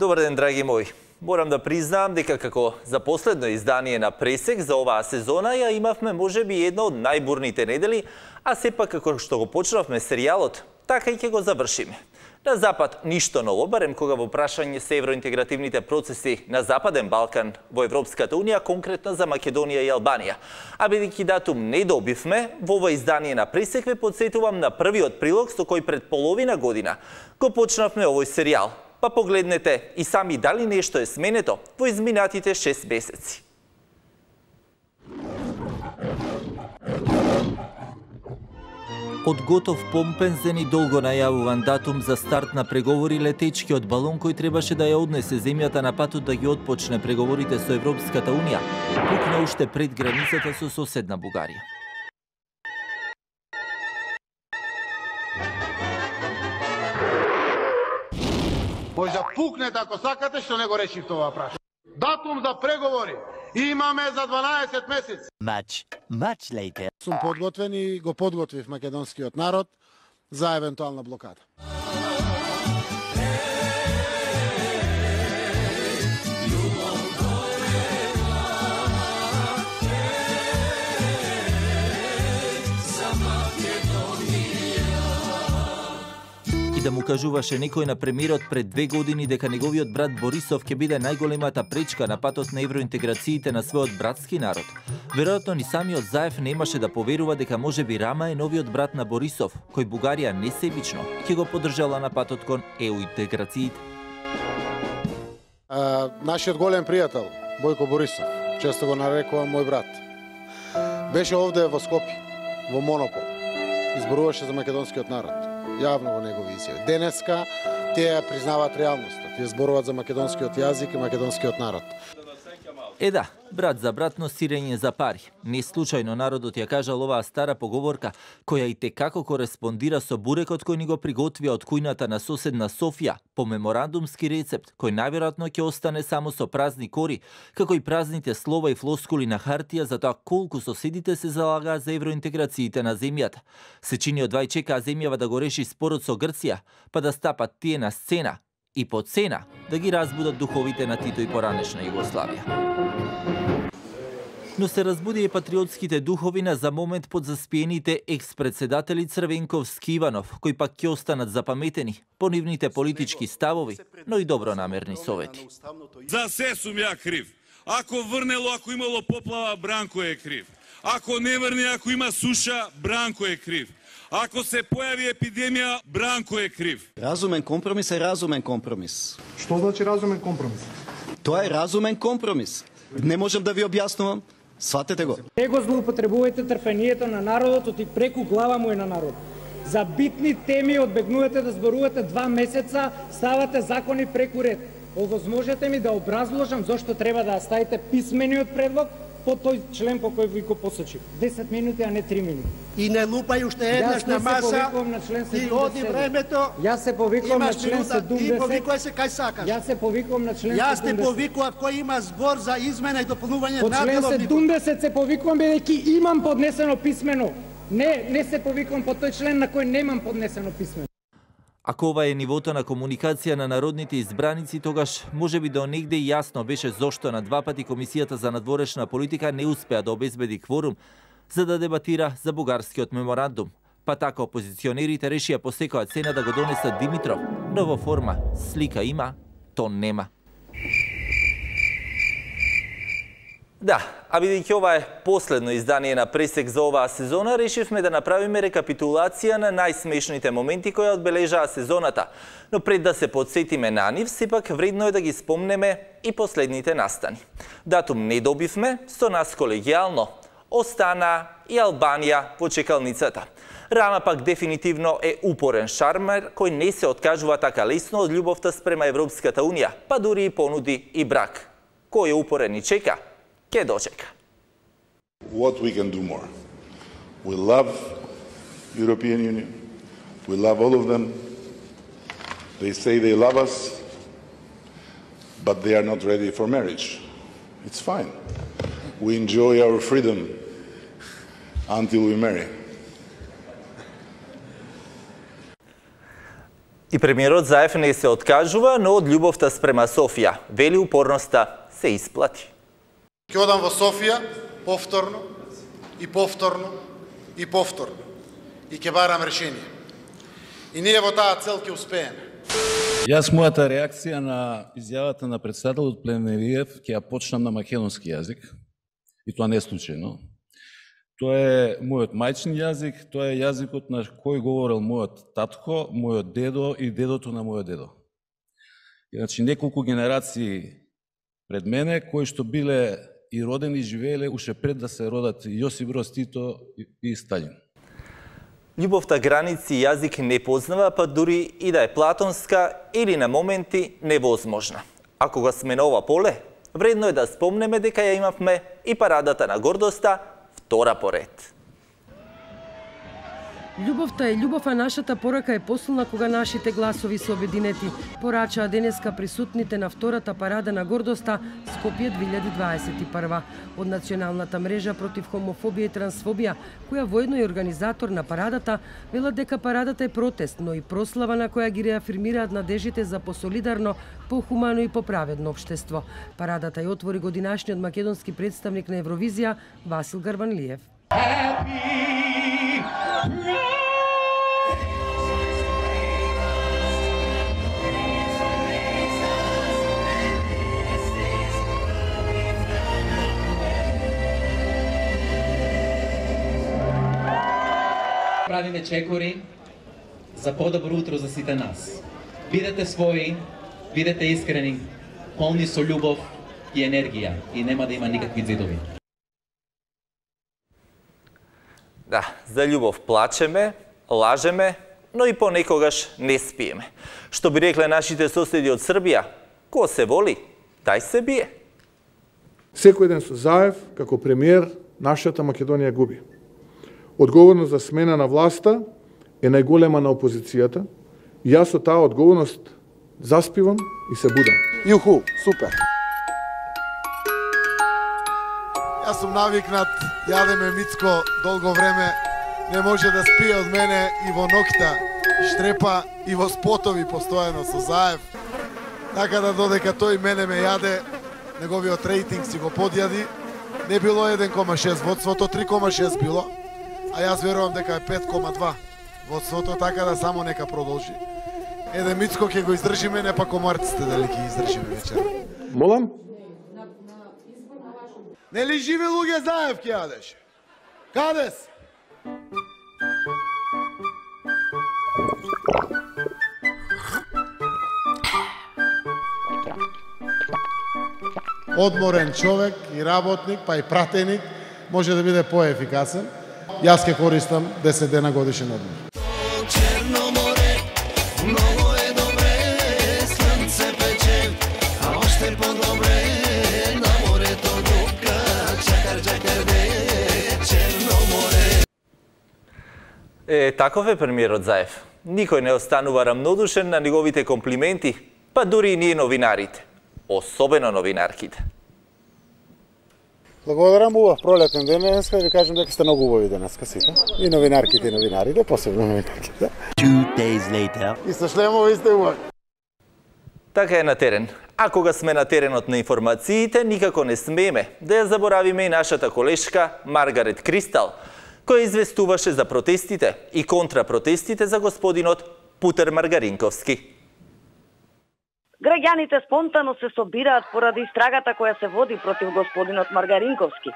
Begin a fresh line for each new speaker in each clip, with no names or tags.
Добар ден, драги мои. Морам да признаам дека како за последно издание на Пресек за оваа сезона ја имавме можеби една од најбурните недели, а сепак како што го почнавме серијалот, така и ќе го завршиме. На Запад ништо ново, барем кога во прашање се евроинтегративните процеси на Западен Балкан во Европската Унија, конкретно за Македонија и Албанија. А бидејќи датум не добивме, во ова издание на Пресек ве потсетувам на првиот прилог со кој пред половина година го почнавме овој серијал. Па погледнете и сами дали нешто е сменето во изминатите 6 месеци.
Од готов помпензен и долго најавуван датум за старт на преговори, летечкиот балон кој требаше да ја однесе земјата на патот да ги отпочне преговорите со Европската Унија, пукна уште пред границата со соседна Бугарија.
Може да пукнете ако сакате, што не го решив тоа прашање. Датум за преговори имаме за 12 месеци.
Much later.
Сум подготвен и го подготвив македонскиот народ за евентуална блокада.
Да му кажуваше некој на премиерот пред 2 години дека неговиот брат Борисов ќе биде најголемата пречка на патот на евроинтеграциите на својот братски народ. Веројатно ни самиот Заев немаше да поверува дека можеби Рама е новиот брат на Борисов, кој Бугарија несебично ќе го поддржала на патот кон EU-интеграциите.
Нашиот голем пријател Бојко Борисов, често го нарекувам мој брат, беше овде во Скопје, во Монопол, изборуваше за македонскиот народ. Јавно во негови изјави. Денеска тие признаваат реалноста. Тие зборуваат за македонскиот јазик и македонскиот народ.
Да, брат за брат, но сирење за пари. Не случајно народот ја кажал оваа стара поговорка, која и текако кореспондира со бурекот кој ни го приготвија од кујната на соседна Софија, по меморандумски рецепт, кој најверојатно ќе остане само со празни кори, како и празните слова и флоскули на хартија за тоа колку соседите се залагаат за евроинтеграциите на земјата. Се чини од двај чекаа земјава да го реши спорот со Грција, па да стапат тие на сцена и по цена да ги разбудат духовите на Тито и поранешна Југославија. Но се разбуди и патриотските духови на за момент под заспиените екс-председатели Црвенковски Иванов, кои пак ќе останат запаметени по нивните политички ставови, но и добронамерни совети.
За се сум ја крив. Ако врнело, ако имало поплава, Бранко е крив. Ако не врне, ако има суша, Бранко е крив. Ако се појави епидемија, Бранко е крив.
Разумен компромис е разумен компромис.
Што значи разумен компромис?
Тоа е разумен компромис. Не можам да ви објаснувам. Сватете го.
Не го злоупотребувате трпението на народот и преку глава му е на народ. За битни теми одбегнувате да зборувате 2 месеца, ставате закони преку ред. Овозможете ми да образложам зошто треба да ставите писмениот предлог по тој член по кој ви го посочив. 10 минути, а не 3 минути.
И не лупај уште еднаш на маса и оди времето.
Јас се повикувам на член 70.
И повикувај се кај сакаш.
Јас се повикувам на член 70.
Јас те повикував кој има збор за измена и дополнување
на
деловникот.
По член 70 се повикувам бидејќи имам поднесено писмено. Не се повикувам по тој член на кој немам поднесено писмено.
Ако ова е нивото на комуникација на народните избраници, тогаш можеби до негде јасно беше зошто на 2 пати Комисијата за надворешна политика не успеа да обезбеди кворум за да дебатира за бугарскиот меморандум. Па така опозиционерите решија по секоја цена да го донесат Димитров, но во форма слика има, тон нема.
Да, а бидејќи ова е последно издание на Пресек за оваа сезона, решивме да направиме рекапитулација на најсмешните моменти кои одбележаа сезоната. Но пред да се подсетиме на нив, сепак вредно е да ги спомнеме и последните настани. Датум не добивме, со нас колегијално остана и Албанија во чекалницата. Рама пак дефинитивно е упорен шармер кој не се откажува така лесно од љубовта спрема Европската Унија, па дури и понуди и брак. Кој е упорен и чека, ке дочека.
What we can do more. We love European Union. We love all of them. They say they love us, but they are not ready for marriage. It's fine. We enjoy our freedom until we marry.
И премиерот Заев не се откажува, но од љубовта спрема Софија. Вели упорноста се исплати.
Ќе одам во Софија повторно и повторно и повторно. И ќе барам решение. И ние во таа цел ќе успееме.
Јас мојата реакција на изјавата на председателот Плевнелиев ќе ја почнам на македонски јазик. И тоа не е случајно. Тоа е мојот мајчин јазик, тоа е јазикот на кој говорел мојот татко, мојот дедо и дедото на мојот дедо. Значи, неколку генерации пред мене, кои што биле и родени и живееле уште пред да се родат Јосип Броз Тито и Сталин.
Љубовта граници и јазик не познава, па дури и да е платонска или на моменти невозможна. А кога сме на ова поле, вредно е да спомнеме дека ја имавме и парадата на гордоста, втора поред.
Љубовта е љубов, а нашата порака е посилна кога нашите гласови се обединети, порачаа денеска присутните на втората парада на гордоста Скопје 2021 од Националната мрежа против хомофобија и трансфобија, која воедно е организатор на парадата, велат дека парадата е протест, но и прослава на која ги реафирмираат надежите за посолидарно, похумано и поправедно општество. Парадата ја отвори годинашниот македонски представник на Евровизија Васил Гарванлиев.
Правиме чекори за подобро утро за сите нас. Бидете своји, бидете искрени, полни со љубов и енергија и нема да има никакви зидови.
Да, за љубов плачеме, лажеме, но и понекогаш не спиеме. Што би рекле нашите соседи од Србија, ко се воли, тај се бие.
Секој ден со Заев, како премиер, нашата Македонија губи. Одговорност за смена на власта е најголема на опозицијата. Јас со таа одговорност заспивам и се будам.
Јуху, супер. Јас сум навикнат, јадеме мицко долго време, не може да спие од мене и во ноќта, штрепа и во спотови постојано со Заев. Така да додека тој мене ме јаде, неговиот рейтинг си го подјади, не било 1,6 водството, 3,6 било, а јас верувам дека е 5,2 водството, така да само нека продолжи. Еден мицко ќе го издржиме, не па комарците дали ќе издржиме вечер.
Молам?
Нели живи луѓе Заев ќе јадеш? Каде си? Одморен човек и работник, па и пратеник, може да биде поефикасен. Јас ќе користам 10 дена годишен одмор.
Черно море, много е добре, слънце пече, а още по-добре, на морето дупка, чакар де, Черно море.
Таков е премиерот Заев. Никој не останува рамнодушен на неговите комплименти, па дури и ние новинарите. Особено новинарките.
Благодарам, убав пролетен ден денеска и ви кажам дека сте многу убави денеска сите. И новинарките и новинарите, посебно новинарките.
2 days later.
И со шлемови сте убави.
Така е на терен. А кога сме на теренот на информациите, никако не смееме да ја заборавиме и нашата колешка Маргарет Кристал, која известуваше за протестите и контрапротестите за господинот Путер Маргаринковски.
Граѓаните спонтано се собираат поради истрагата која се води против господинот Маргаринковски.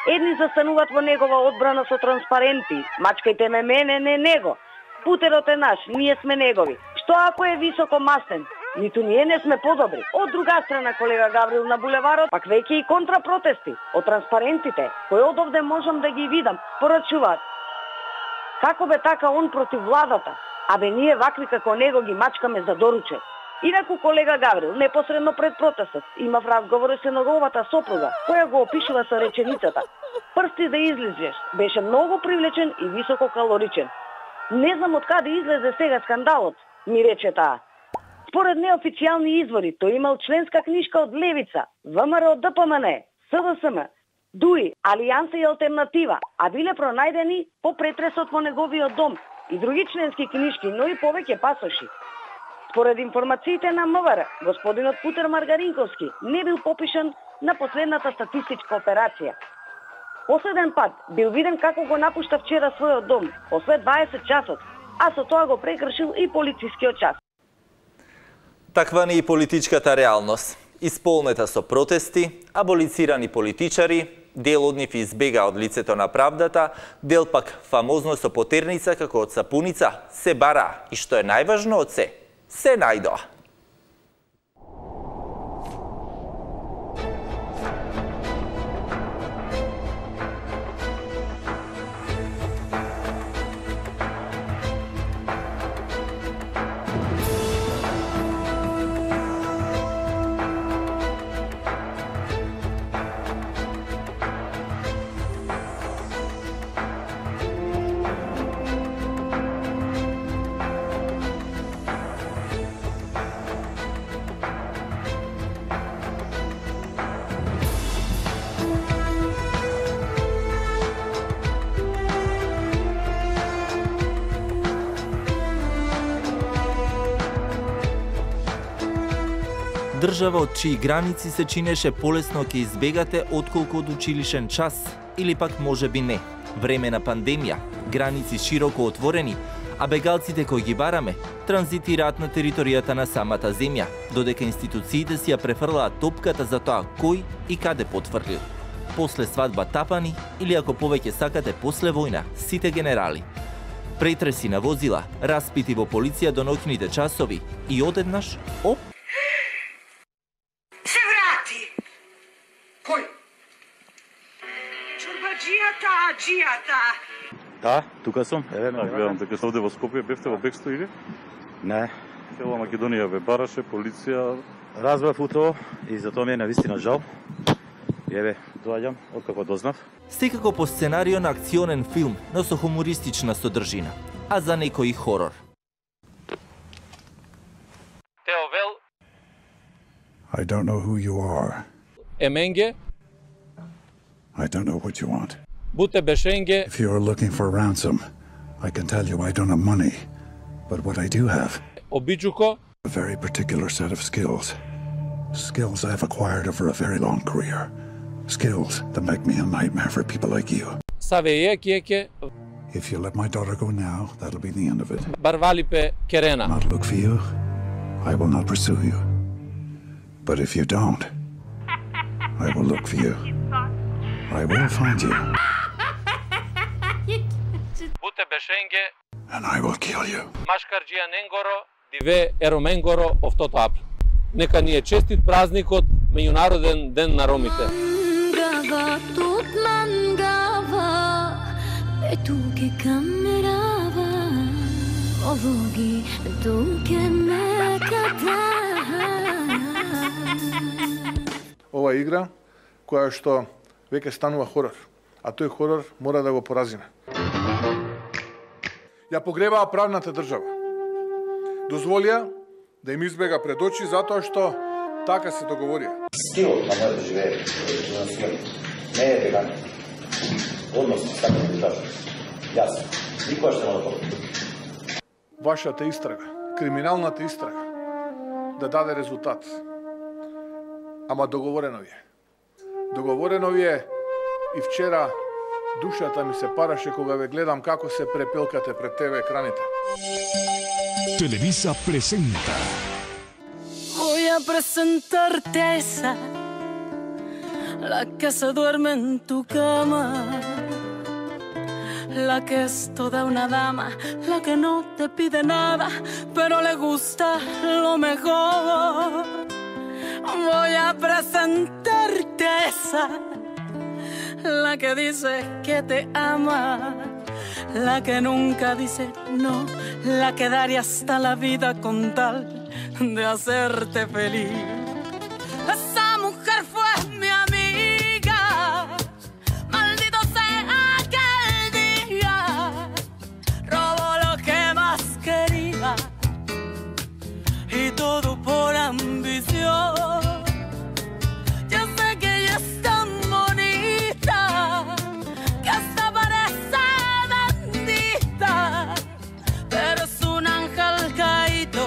Едни застануваат во негова одбрана со транспаренти. Мачкајте ме мене, не него. Путерот е наш, ние сме негови. Што ако е високо маслен? Ниту ние не сме подобри. Од друга страна, колега Гаврил, на булеварот, пак веќе и контрапротести од транспарентите, кои од овде можам да ги видам, порачуваат. Како бе така он против владата? Абе ние вакви како него ги мачкаме за доруче. Инаку, колега Гаврил, непосредно пред протестот, имав разговори со неговата сопруга, која го опишува со реченицата: "Прсти да излизеш, беше многу привлечен и висококалоричен." Не знам од каде излезе сега скандалот, ми рече таа. Според неофицијални извори, тој имал членска книжка од Левица, ВМРО, ДПМН, СДСМ, ДУИ, Алијанса и Алтернатива, а биле пронајдени по претресот во неговиот дом и други членски книжки, но и повеќе пасоши. Според информациите на МВР, господинот Путер Маргаринковски не бил попишан на последната статистичка операција. Последен пат бил виден како го напушта вчера својот дом, после 20 часот, а со тоа го прекршил и полицискиот час.
Таква ни и политичката реалност. Исполнета со протести, аболицирани политичари, дел од нив избега од лицето на правдата, дел пак фамозно со потерница како од сапуница се бара и што е најважно од се најдоа.
Држава од чии граници се чинеше полесно ќе избегате отколку од училишен час, или пак можеби не. Време на пандемија, граници широко отворени, а бегалците кои ги бараме транзитираат на територијата на самата земја, додека институциите си ја префрлаат топката за тоа кој и каде потврлил. После свадба тапани или ако повеќе сакате после војна, сите генерали. Претреси на возила, распити во полиција до ноќните часови и одеднаш, оп,
Чорбаджијата.
Да, тука сум. Еве ме гледам дека сте овде во Скопје, бевте во бегство или?
Не.
Цела Македонија ве бараше, полиција.
Разбрав утро и за тоа ми е навистина жал. Еве, доаѓам, откако дознав.
Секако по сценарио на акционен филм, но со хумористична содржина, а за некој хорор.
Теовел.
I don't know who you are.
Еменге.
I don't know what you want.
Буте бешенге.
If you're looking for ransom, I can tell you I don't have money. But what I do have,
Обиджуко.
A very particular set of skills. Skills I've acquired over a very long career. Skills that make me a nightmare for people like you.
Савеје кеке.
If you let my daughter go now, that'll be the end of it.
Барвалипе керена.
Not look for you, I will not pursue you. But if you don't, I will look for you. I will find you.
Буте бешенге.
And I will kill you.
Машкарджија ненгоро, диве ероменгоро офтото апл. Нека ни е честит празникот, меѓународен ден на ромите.
Мангава, тут мангава, туке камерава, овоги, туке меката.
Ова игра која што веќе станува хорор, а тој хорор мора да го поразиме. Ја погребаа правната држава. Дозволија да им избега пред очи затоа што така се договорија.
Стилот на моето живење, не е веган. Однос с така држава. Јас никош не мора да.
Вашата истрага, криминалната истрага, да даде резултат. Ама договорено ви е. Договорено ви е и вчера душата ми се параше кога ве гледам како се препелкате пред ТВ екраните.
Televisa presenta.
Voy a presentarte esa, la que se duerme en tu cama, la que es toda una dama, la que no te pide nada, pero le gusta lo mejor. Voy a presentarte esa, la que dice que te ama, la que nunca dice no, la que daría hasta la vida con tal de hacerte feliz. Esa mujer fue mi amiga, maldito sea aquel día, robó lo que más quería y todo por ambición. Yo sé que ella es tan bonita que hasta parece bendita, pero es un ángel caído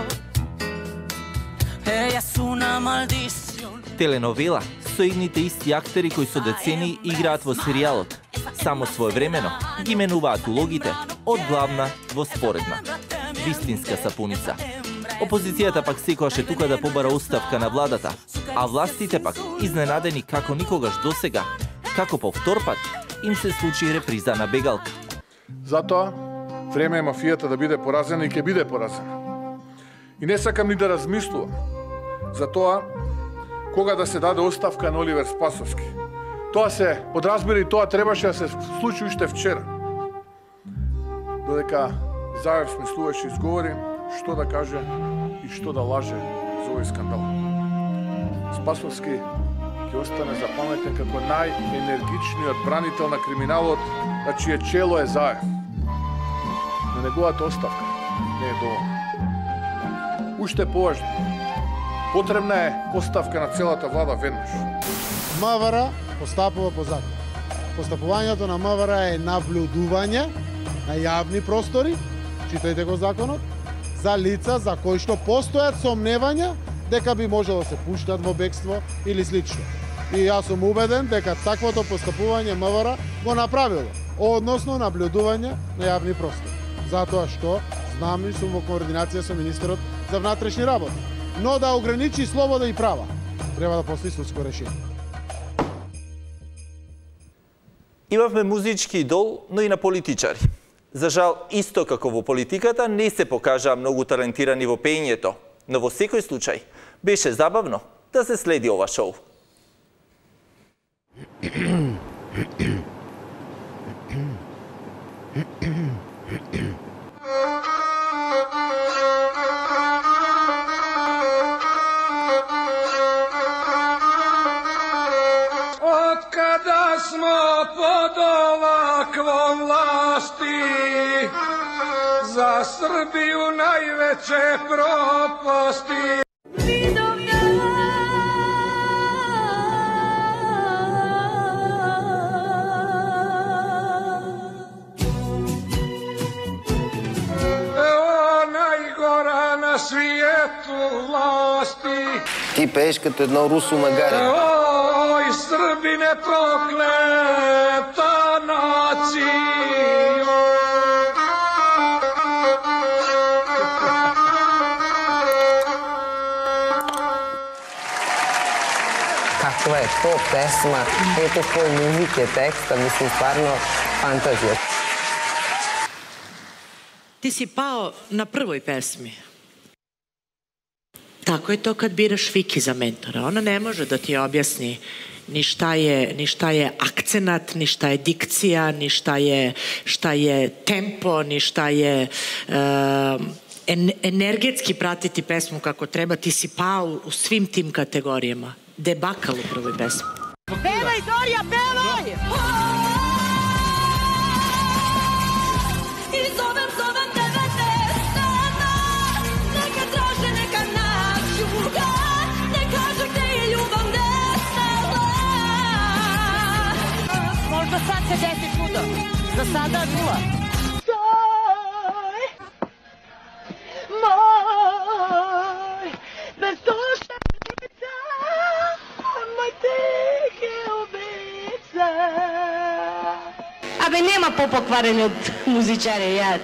Теленовела со едните исти актери кои со децени играат во серијалот. Само своевремено ги менуваат улогите од главна во споредна. Вистинска сапуница. Опозицијата пак секогаш е тука да побара оставка на владата, а властите пак изненадени како никогаш досега, како по втор пат им се случи реприза на бегалка.
Затоа, време е мафијата да биде поразена и ќе биде поразена. И не сакам ни да размислувам за тоа кога да се даде оставка на Оливер Спасовски. Тоа се подразбира и тоа требаше да се случи уште вчера. Додека Заев смислуваше изговори што да каже и што да лаже за овој скандал. Спасовски ќе остане запаметен како најенергичниот бранител на криминалот, на чие чело е Заев. На неговата оставка не е доволно. Уште поважно, потребна е оставка на целата влада веднаш.
МВР постапува по закон. Постапувањето на МВР е наблюдување на јавни простори, читајте го законот, за лица за кои што постојат сомневања дека би можело да се пуштат во бегство или слично. И јас сум убеден дека таквото постапување МВР го направило, односно наблюдување на јавни простори. Затоа што знам и сум во координација со министерот за внатрешни работи. Но да ограничи слобода и права, треба да постои судско решение.
Имавме музички идол, но и на политичари. За жал, исто како во политиката, не се покажаа многу талентирани во пеењето, но во секој случај беше забавно да се следи ова шоу.
Откада смо под оваквом власти, за Србiju највеќе пропасти. Најгора на сvijetu vlasti.
Ти пееш като едно русо магаре.
Oj, Srbine prokleta nacijo.
Kakva je to pesma, ето koji muzike, teksta, mislim stvarno fantazija.
Ti si pao na prvoj pesmi. Tako je to kad biraš Viki za mentora. Ona ne može da ti objasni ni šta je akcenat, ni šta je dikcija, ni šta je tempo, ni šta je energetski pratiti pesmu kako treba. Ti si pao u svim tim kategorijama. Debakal u prvoj pesmi.
Pevaj, Dorija, pevaj! I zovem tebe nestana, neka traže, neka nađu ga, ne kaže gde je ljubav nestala. Možda sad se desi čudo, za sada nula. Moj, bez duše lica, moj teke obeca. Абе, нема по-покварени од музичари, ја.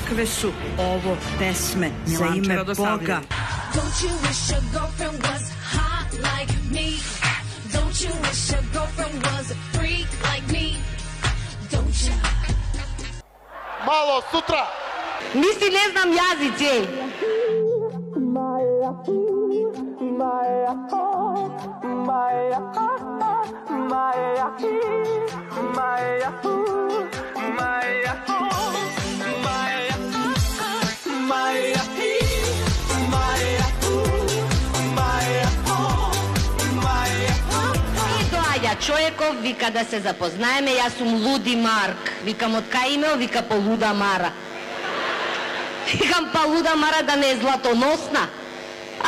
Какве су ово песме за име Бога?
Don't you wish your girlfriend was hot like me? Don't you wish your girlfriend was a freak like me? Don't you?
Мало сутра!
Мисли не знам јазици. Човеков вика да се запознаеме, јас сум Луди Марк. Викам од кај имео, вика по Луда Мара.
Викам, па луда мара да не е златоносна.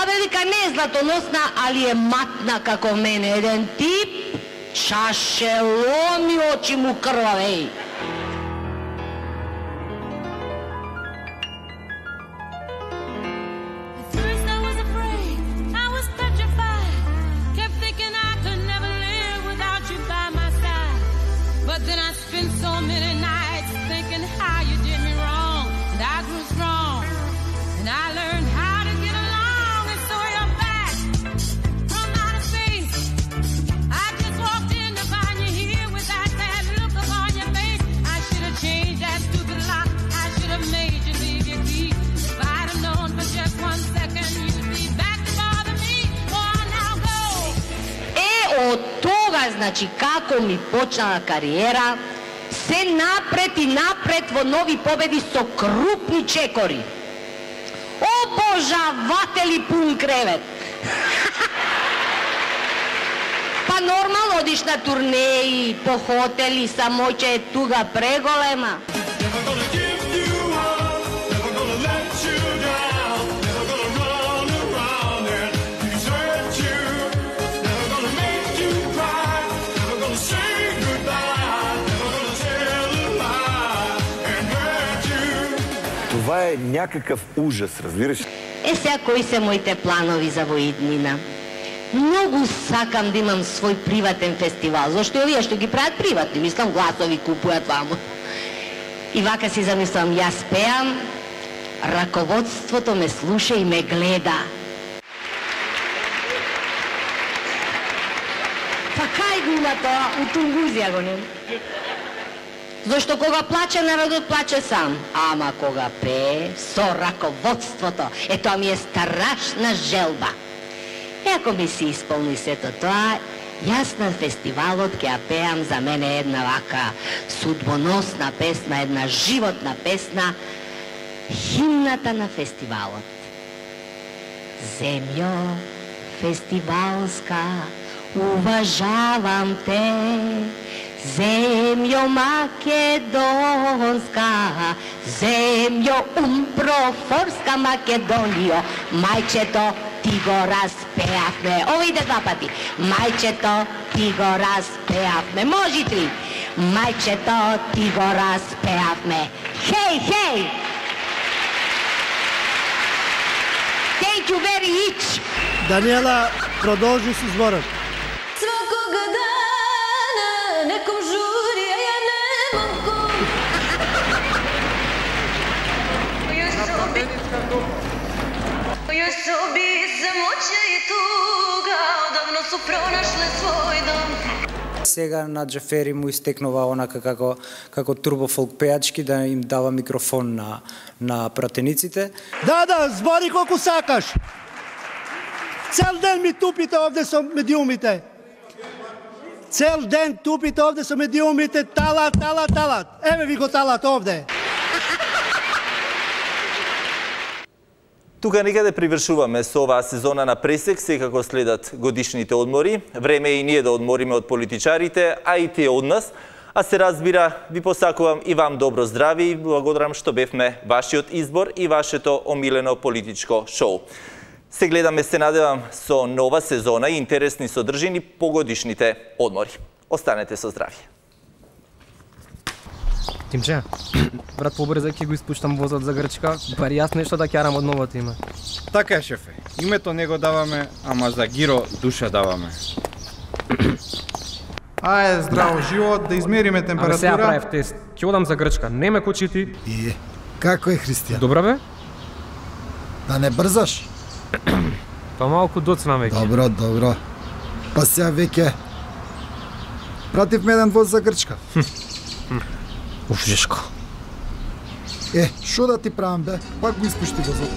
Абе, вика, не е златоносна, али е матна како мене. Еден тип, чашеломи, очи му крвавеј. Од тога, значи, како ми почнала кариера, се напред и напред во нови победи со крупни чекори. Обожаватели пун кревет. Па нормално одиш на турнеи, по хотели, само че е туга преголема.
Това е някакъв ужас, разбираш?
Сега кои се моите планови за воиднина? Многу сакам да имам свој приватен фестивал, зашто овие што ги прават приватни, мислам, гласови купујат ваму. И вака си замислам, јас пеам, раководството ме слуша и ме гледа. Па кај го има тоа? У Тунгузија го нема. Зашто кога плаче, народот плаче сам. Ама кога пее, со раководството, тоа ми е страшна желба. Ако ми се исполни сето тоа, јас на фестивалот ќе ја пеам за мене една вака судбоносна песна, една животна песна, химната на фестивалот. Земјо фестивалска, уважавам те, земјо македонска, земјо умпрофорска Македонијо, мајчето ти го распеавме. Ово иде два пати. Мајчето ти го распеавме. Може три. Мајчето ти го распеавме. Хеј, хеј! Thank you very much.
Даниела, продолжи со зборот.
Свакога дана неком жури, а ја не могу. Јас соби самоќа и туга, одавно су пронашле свој дом.
Сега на Џафери му истекнува онака како турбофолк пеачки да им дава микрофон на пратениците.
Да, збори колку сакаш. Цел ден ми тупите овде со медиумите. Цел ден тупите овде со медиумите, талат. Еве ви го талат овде.
Тука некаде привршуваме со оваа сезона на Пресек, секако следат годишните одмори. Време е и ние да одмориме од политичарите, а и тие од нас. А се разбира, ви посакувам и вам добро здраве и благодарам што бевме вашиот избор и вашето омилено политичко шоу. Се гледаме, се надевам, со нова сезона и интересни содржини по годишните одмори. Останете со здравје.
Тимче, брат, побрзај ќе го испуштам возот за Грчка, бар јас нешто да ќарам од новото име.
Така е, шефе. Името не го даваме, ама за Гиро душа даваме.
Ајде, здраво живот, да измериме температура.
Ама сега правев тест. Ќе одам за Грчка, не ме кочити.
Како е, Христијан?
Добра бе?
Да не брзаш?
Па малку доцнам веќе.
Добро. Па сега веќе пративме еден воз за Грчка.
Уф, жешко.
Шо да ти правам бе? Пак го испушти возот.